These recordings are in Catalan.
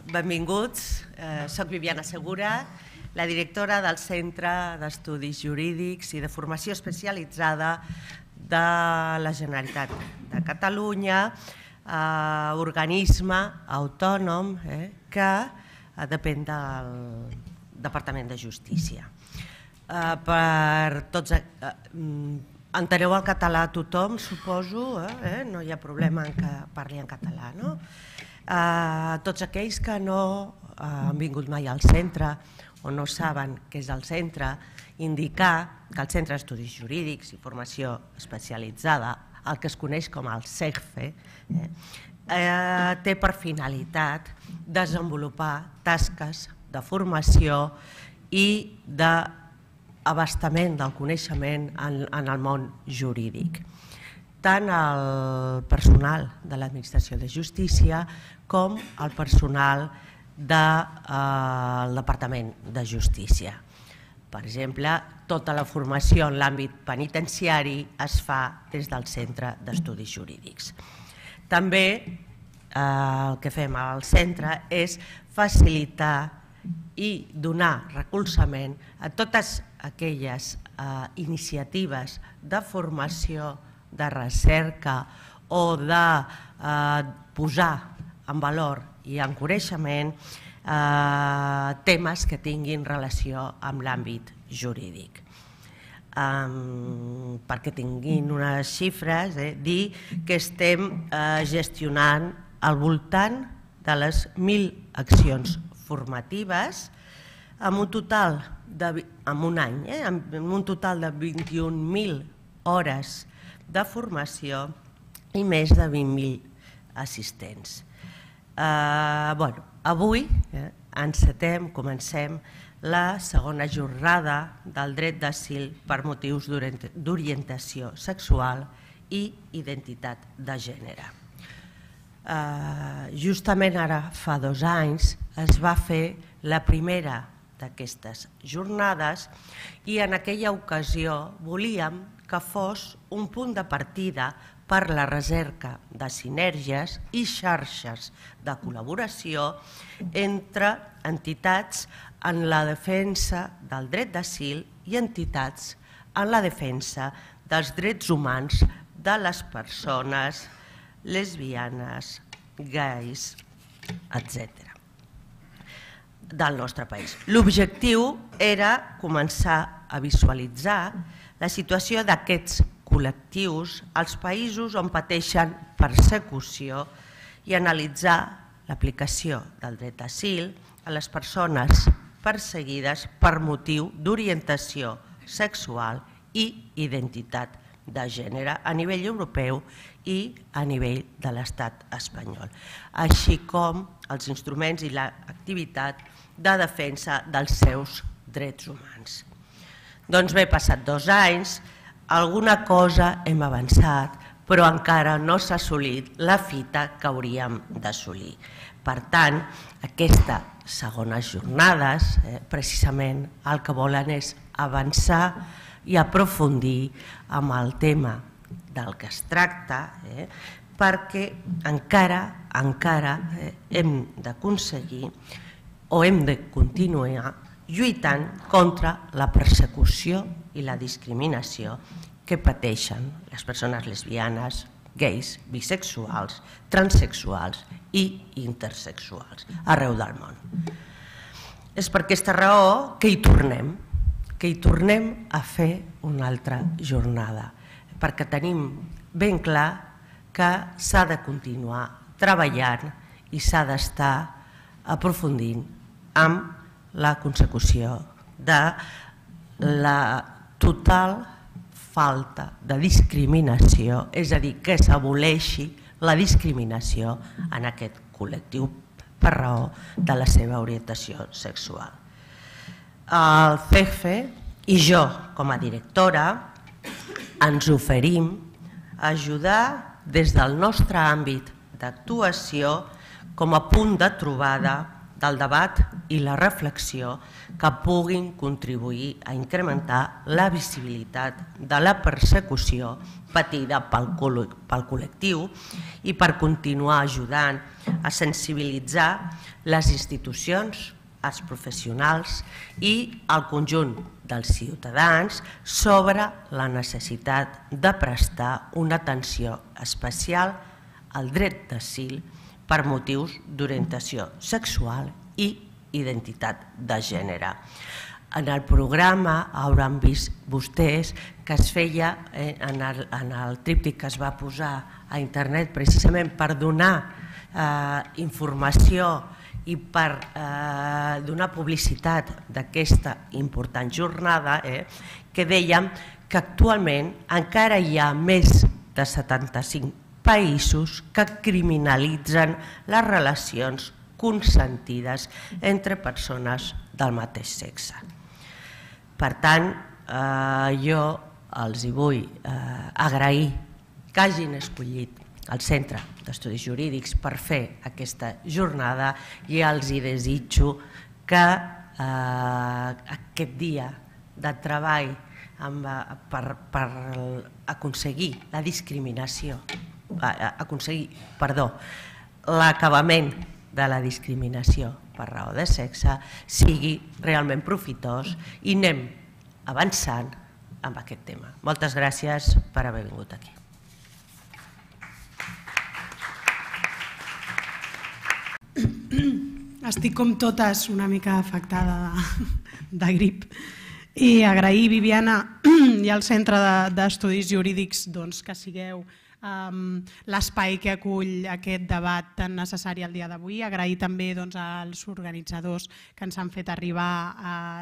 Benvinguts, soc Viviana Segura, la directora del Centre d'Estudis Jurídics i de Formació Especialitzada de la Generalitat de Catalunya, organisme autònom que depèn del Departament de Justícia. Enteneu el català a tothom, suposo, no hi ha problema en que parli en català, no? Tots aquells que no han vingut mai al centre o no saben què és el centre, indicar que el Centre d'Estudis Jurídics i Formació Especialitzada, el que es coneix com el CEGFE, té per finalitat desenvolupar tasques de formació i d'abastament del coneixement en el món jurídic. Tant el personal de l'Administració de Justícia com el personal del Departament de Justícia. Per exemple, tota la formació en l'àmbit penitenciari es fa des del Centre d'Estudis Jurídics. També el que fem al centre és facilitar i donar recolzament a totes aquelles iniciatives de formació, de recerca o de posar en valor i en coneixement temes que tinguin relació amb l'àmbit jurídic. Perquè tinguin unes xifres, dir que estem gestionant al voltant de les 1.000 accions formatives amb un total de 21.000 hores de formació i més de 20.000 assistents. Avui comencem la segona jornada del dret d'asil per motius d'orientació sexual i identitat de gènere. Justament ara fa 2 anys es va fer la primera d'aquestes jornades i en aquella ocasió volíem que fos un punt de partida per la recerca de sinergies i xarxes de col·laboració entre entitats en la defensa del dret d'asil i entitats en la defensa dels drets humans de les persones lesbianes, gais, etc. del nostre país. L'objectiu era començar a visualitzar la situació d'aquests col·lectius als països on pateixen persecució i analitzar l'aplicació del dret d'asil a les persones perseguides per motiu d'orientació sexual i identitat de gènere a nivell europeu i a nivell de l'Estat espanyol, així com els instruments i l'activitat de defensa dels seus drets humans. Doncs bé, passat 2 anys, alguna cosa hem avançat, però encara no s'ha assolit la fita que hauríem d'assolir. Per tant, aquestes segones jornades, precisament el que volen és avançar i aprofundir amb el tema del que es tracta, perquè encara hem d'aconseguir o hem de continuar lluitant contra la persecució i la discriminació que pateixen les persones lesbianes, gais, bisexuals, transexuals i intersexuals arreu del món. És per aquesta raó que hi tornem a fer una altra jornada, perquè tenim ben clar que s'ha de continuar treballant i s'ha d'estar aprofundint amb la consecució de la total falta de discriminació, és a dir, que s'aboleixi la discriminació en aquest col·lectiu per raó de la seva orientació sexual. El CEGFE i jo, com a directora, ens oferim a ajudar des del nostre àmbit d'actuació com a punt de trobada del debat i la reflexió que puguin contribuir a incrementar la visibilitat de la persecució patida pel col·lectiu i per continuar ajudant a sensibilitzar les institucions, els professionals i el conjunt dels ciutadans sobre la necessitat de prestar una atenció especial al dret d'asil per motius d'orientació sexual i identitat de gènere. En el programa hauran vist vostès que es feia en el tríptic que es va posar a internet precisament per donar informació i per donar publicitat d'aquesta important jornada, que dèiem que actualment encara hi ha més de 75 països que criminalitzen les relacions consentides entre persones del mateix sexe. Per tant, jo els vull agrair que hagin escollit el Centre d'Estudis Jurídics per fer aquesta jornada i els desitjo que aquest dia de treball per aconseguir la discriminació, l'acabament de la discriminació per raó de sexe sigui realment profitós i anem avançant amb aquest tema. Moltes gràcies per haver vingut aquí. Estic com totes una mica afectada de grip i agrair, Viviana, i al Centre d'Estudis Jurídics que sigueu l'espai que acull aquest debat tan necessari el dia d'avui. Agrair també als organitzadors que ens han fet arribar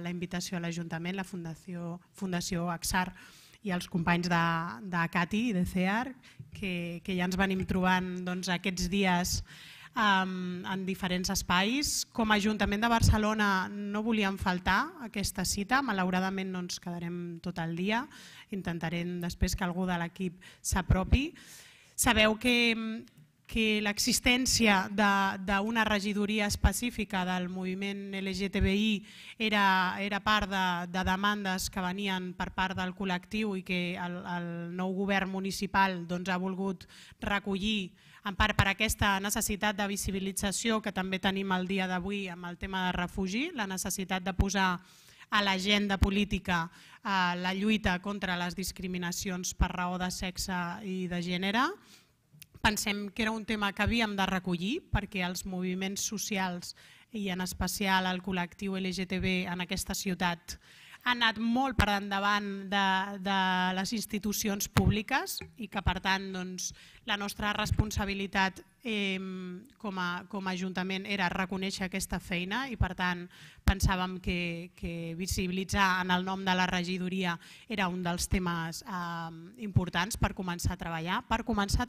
la invitació a l'Ajuntament, la Fundació AXAR i els companys de CATI i de CEAR, que ja ens venim trobant aquests dies en diferents espais. Com a Ajuntament de Barcelona no volíem faltar aquesta cita, malauradament no ens quedarem tot el dia, intentarem després que algú de l'equip s'apropi. Sabeu que l'existència d'una regidoria específica del moviment LGTBI era part de demandes que venien per part del col·lectiu i que el nou govern municipal ha volgut recollir en part per aquesta necessitat de visibilització que també tenim el dia d'avui amb el tema de refugi, la necessitat de posar a l'agenda política la lluita contra les discriminacions per raó de sexe i de gènere. Pensem que era un tema que havíem de recollir perquè els moviments socials i en especial el col·lectiu LGTB en aquesta ciutat ha anat molt per endavant de les institucions públiques i que per tant la nostra responsabilitat com a Ajuntament era reconèixer aquesta feina i per tant pensàvem que visibilitzar en el nom de la regidoria era un dels temes importants per començar a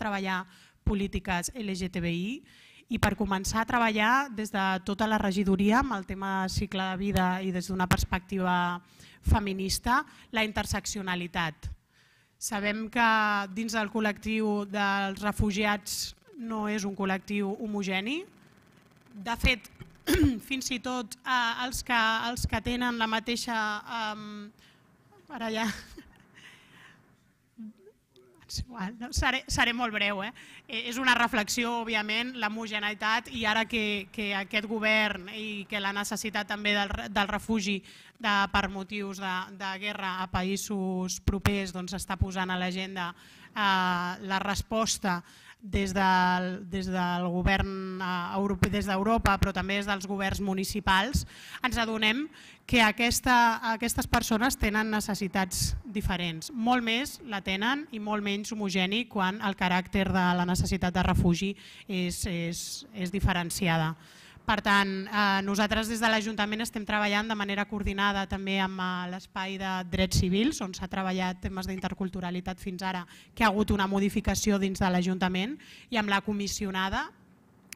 treballar polítiques LGTBI i per començar a treballar des de tota la regidoria amb el tema cicle de vida i des d'una perspectiva feminista, la interseccionalitat. Sabem que dins del col·lectiu dels refugiats no és un col·lectiu homogeni. De fet, fins i tot els que tenen la mateixa... Ara ja... Seré molt breu. És una reflexió, òbviament, l'homogeneïtat i ara que aquest govern i que la necessitat també del refugi per motius de guerra a països propers està posant a l'agenda la resposta des del govern europeu, des d'Europa, però també des dels governs municipals, ens adonem que aquestes persones tenen necessitats diferents. Molt més la tenen i molt menys homogeni quan el caràcter de la necessitat de refugi és diferenciada. Per tant, nosaltres des de l'Ajuntament estem treballant de manera coordinada també amb l'espai de drets civils, on s'ha treballat temes d'interculturalitat fins ara, que ha hagut una modificació dins de l'Ajuntament, i amb la comissionada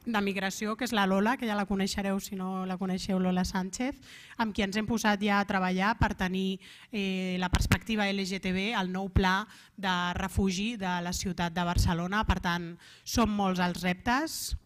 de migració, que és la Lola, que ja la coneixereu si no la coneixeu, Lola Sánchez, amb qui ens hem posat ja a treballar per tenir la perspectiva LGTB, el nou pla de refugi de la ciutat de Barcelona. Per tant, són molts els reptes.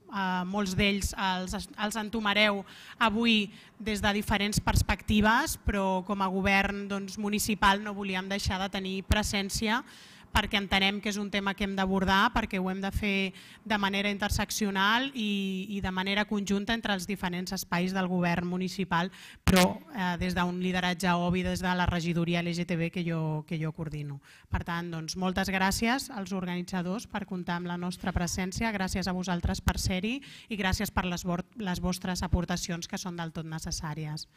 molts d'ells els entomareu avui des de diferents perspectives, però com a govern municipal no volíem deixar de tenir presència perquè entenem que és un tema que hem d'abordar, perquè ho hem de fer de manera interseccional i de manera conjunta entre els diferents espais del govern municipal, però des d'un lideratge obvi des de la regidoria LGTB que jo coordino. Per tant, moltes gràcies als organitzadors per comptar amb la nostra presència, gràcies a vosaltres per ser-hi i gràcies per les vostres aportacions que són del tot necessàries.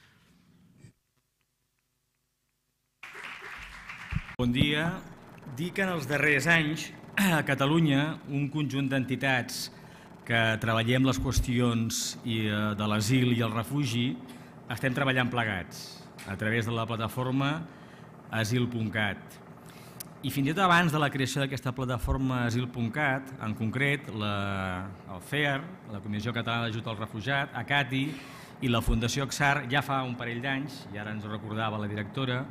Bon dia. Dir que en els darrers anys a Catalunya un conjunt d'entitats que treballem les qüestions de l'asil i el refugi estem treballant plegats a través de la plataforma asil.cat. I fins i tot abans de la creació d'aquesta plataforma asil.cat, en concret el FEAR, la Comissió Catalana d'Ajut al Refugiat, ACATI i la Fundació XAR ja fa un parell d'anys, i ara ens ho recordava la directora,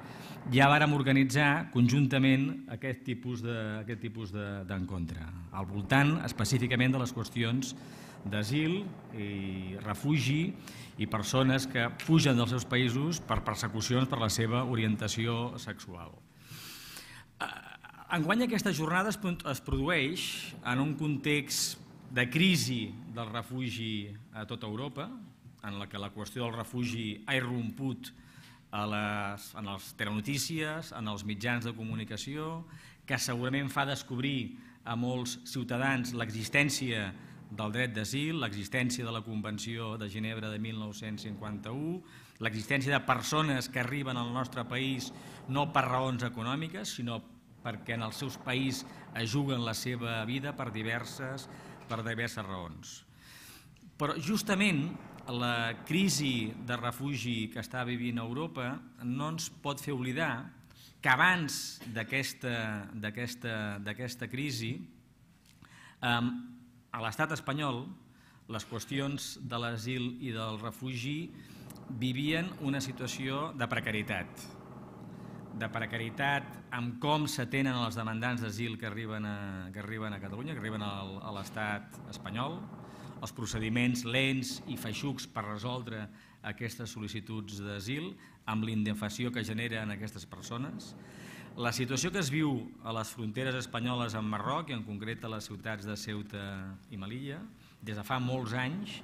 ja vàrem organitzar conjuntament aquest tipus d'encontre, al voltant específicament de les qüestions d'asil i refugi i persones que fugen dels seus països per persecucions per la seva orientació sexual. Enguany aquesta jornada es produeix en un context de crisi del refugi a tota Europa, en la que la qüestió del refugi ha irromput en les telenotícies, en els mitjans de comunicació, que segurament fa descobrir a molts ciutadans l'existència del dret d'asil, l'existència de la Convenció de Ginebra de 1951, l'existència de persones que arriben al nostre país no per raons econòmiques, sinó perquè en els seus països juguen la seva vida per diverses raons. Però justament la crisi de refugi que està vivint Europa no ens pot fer oblidar que abans d'aquesta crisi a l'estat espanyol les qüestions de l'asil i del refugi vivien una situació de precarietat amb com s'atenen els demandants d'asil que arriben a Catalunya, que arriben a l'estat espanyol, els procediments lents i feixucs per resoldre aquestes sol·licituds d'asil amb l'indefensió que generen aquestes persones, la situació que es viu a les fronteres espanyoles amb Marroc i en concret a les ciutats de Ceuta i Melilla des de fa molts anys,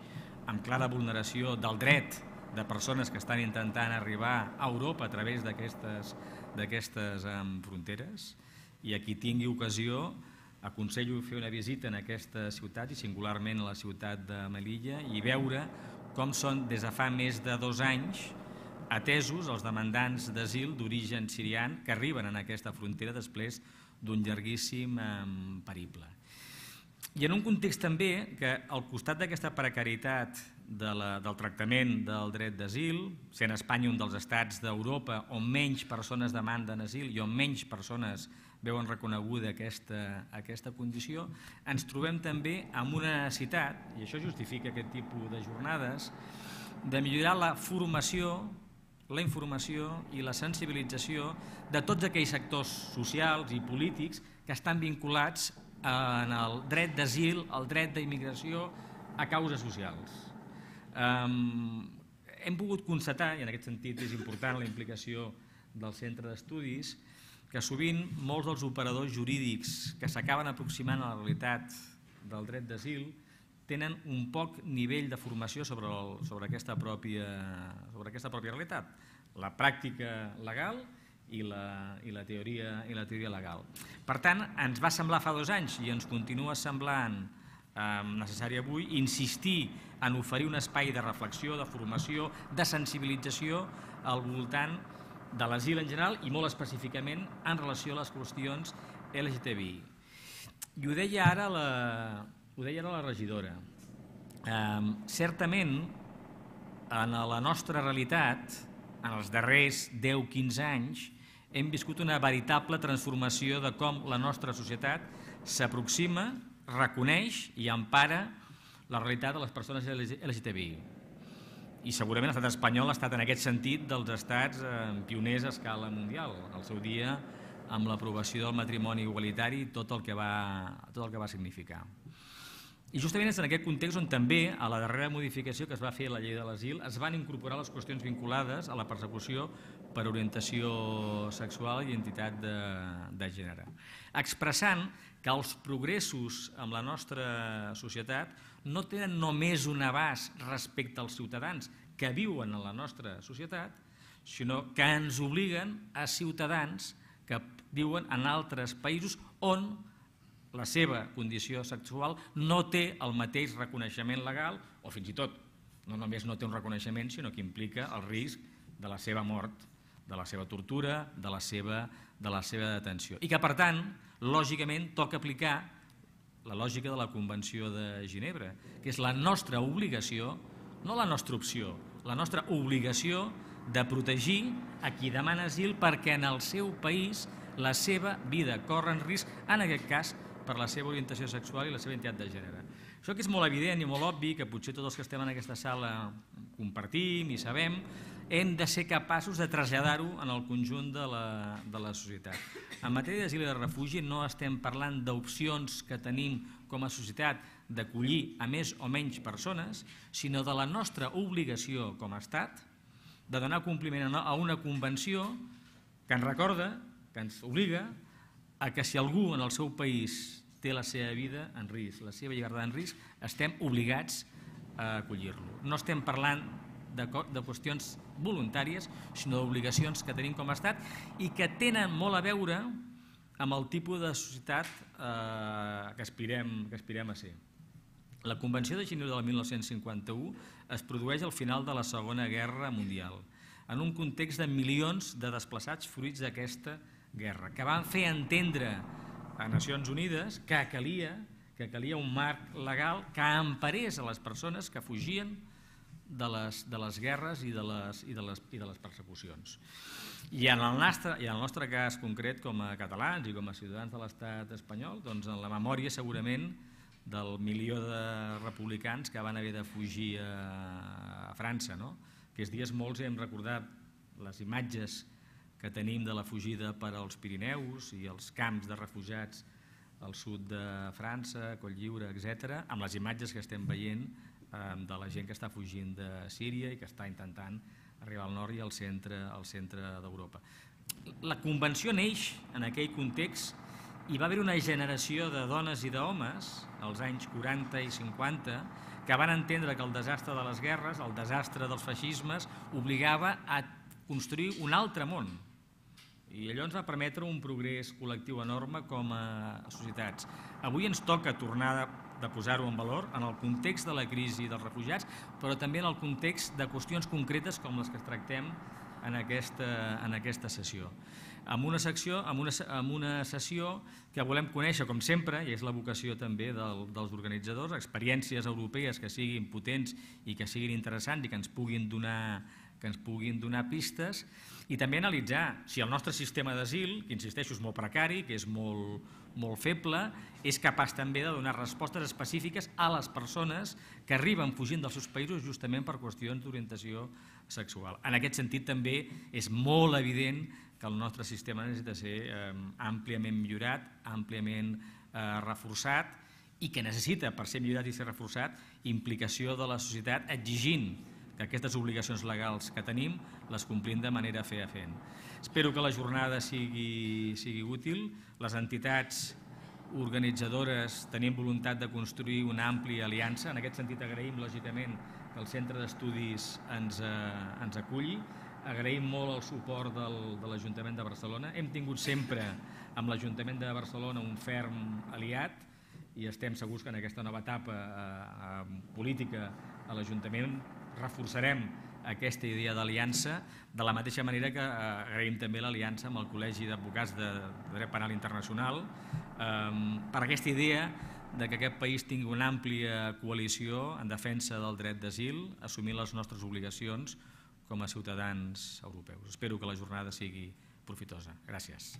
amb clara vulneració del dret de persones que estan intentant arribar a Europa a través d'aquestes fronteres, i a qui tingui ocasió aconsello fer una visita en aquesta ciutat i singularment a la ciutat de Melilla i veure com són des de fa més de 2 anys atesos els demandants d'asil d'origen sirià que arriben en aquesta frontera després d'un llarguíssim periple. I en un context també que al costat d'aquesta precarietat del tractament del dret d'asil, sent Espanya un dels estats d'Europa on menys persones demanden asil i on menys persones veuen reconeguda aquesta condició, ens trobem també amb una necessitat, i això justifica aquest tipus de jornades, de millorar la formació, la informació i la sensibilització de tots aquells sectors socials i polítics que estan vinculats en el dret d'asil, el dret d'immigració a causes socials. Hem pogut constatar, i en aquest sentit és important la implicació del centre d'estudis, que sovint molts dels operadors jurídics que s'acaben aproximant a la realitat del dret d'asil tenen un poc nivell de formació sobre aquesta pròpia realitat, la pràctica legal i la teoria legal. Per tant, ens va semblar fa 2 anys i ens continua semblant necessari avui insistir en oferir un espai de reflexió, de formació, de sensibilització al voltant de l'asil en general i molt específicament en relació a les qüestions LGTBI. I ho deia ara la regidora. Certament, en la nostra realitat, en els darrers 10-15 anys, hem viscut una veritable transformació de com la nostra societat s'aproxima, reconeix i empara la realitat de les persones LGTBI. I segurament l'estat espanyol ha estat en aquest sentit dels estats pioners a escala mundial, al seu dia amb l'aprovació del matrimoni igualitari i tot el que va significar. I justament és en aquest context on també, a la darrera modificació que es va fer a la llei de l'asil, es van incorporar les qüestions vinculades a la persecució per orientació sexual i identitat de gènere, expressant que els progressos en la nostra societat no tenen només un abast respecte als ciutadans que viuen en la nostra societat, sinó que ens obliguen a ciutadans que viuen en altres països on la seva condició sexual no té el mateix reconeixement legal, o fins i tot no només no té un reconeixement, sinó que implica el risc de la seva mort, de la seva tortura, de la seva detenció. I que, per tant, lògicament, toca aplicar la lògica de la Convenció de Ginebra, que és la nostra obligació, no la nostra opció, la nostra obligació de protegir a qui demana asil perquè en el seu país la seva vida corre en risc, en aquest cas, per la seva orientació sexual i la seva identitat de gènere. Això que és molt evident i molt obvi, que potser tots els que estem en aquesta sala compartim i sabem, hem de ser capaços de traslladar-ho en el conjunt de la societat. En matèria d'asil i de refugi no estem parlant d'opcions que tenim com a societat d'acollir a més o menys persones, sinó de la nostra obligació com a Estat de donar compliment a una convenció que ens recorda, que ens obliga a que si algú en el seu país té la seva vida en risc, la seva llibertat en risc, estem obligats a acollir-lo. No estem parlant de qüestions voluntàries, sinó d'obligacions que tenim com a Estat i que tenen molt a veure amb el tipus de societat que aspirem a ser. La Convenció de Ginebra del 1951 es produeix al final de la Segona Guerra Mundial, en un context de milions de desplaçats fruits d'aquesta guerra, que van fer entendre a Nacions Unides que calia un marc legal que emparés a les persones que fugien de les guerres i de les persecucions. I en el nostre cas concret, com a catalans i com a ciutadans de l'estat espanyol, doncs en la memòria segurament del milió de republicans que van haver de fugir a França. Aquests dies molts hem recordat les imatges que tenim de la fugida per als Pirineus i els camps de refugiats al sud de França, Cotlliure, etc., amb les imatges que estem veient de la gent que està fugint de Síria i que està intentant arribar al nord i al centre d'Europa. La Convenció neix en aquell context i va haver una generació de dones i d'homes, als anys 40 i 50, que van entendre que el desastre de les guerres, el desastre dels feixismes, obligava a construir un altre món. I allò ens va permetre un progrés col·lectiu enorme com a societats. Avui ens toca tornar de posar-ho en valor en el context de la crisi dels refugiats, però també en el context de qüestions concretes com les que tractem en aquesta sessió. Amb una sessió que volem conèixer, com sempre, i és la vocació també dels organitzadors, experiències europees que siguin potents i que siguin interessants i que ens puguin donar pistes, i també analitzar si el nostre sistema d'asil, que insisteixo és molt precari, que és molt feble, és capaç també de donar respostes específiques a les persones que arriben fugint dels seus països justament per qüestions d'orientació sexual. En aquest sentit també és molt evident que el nostre sistema necessita ser àmpliament millorat, àmpliament reforçat i que necessita, per ser millorat i ser reforçat, implicació de la societat exigint que aquestes obligacions legals que tenim les complim de manera fefaent. Espero que la jornada sigui útil. Les entitats organitzadores tenim voluntat de construir una àmplia aliança. En aquest sentit agraïm lògicament que el Centre d'Estudis ens aculli. Agraïm molt el suport de l'Ajuntament de Barcelona. Hem tingut sempre amb l'Ajuntament de Barcelona un ferm aliat i estem segurs que en aquesta nova etapa política a l'Ajuntament reforçarem aquesta idea d'aliança, de la mateixa manera que agraïm també l'aliança amb el Col·legi d'Advocats de Dret Penal Internacional per aquesta idea que aquest país tingui una àmplia coalició en defensa del dret d'asil, assumint les nostres obligacions com a ciutadans europeus. Espero que la jornada sigui profitosa. Gràcies.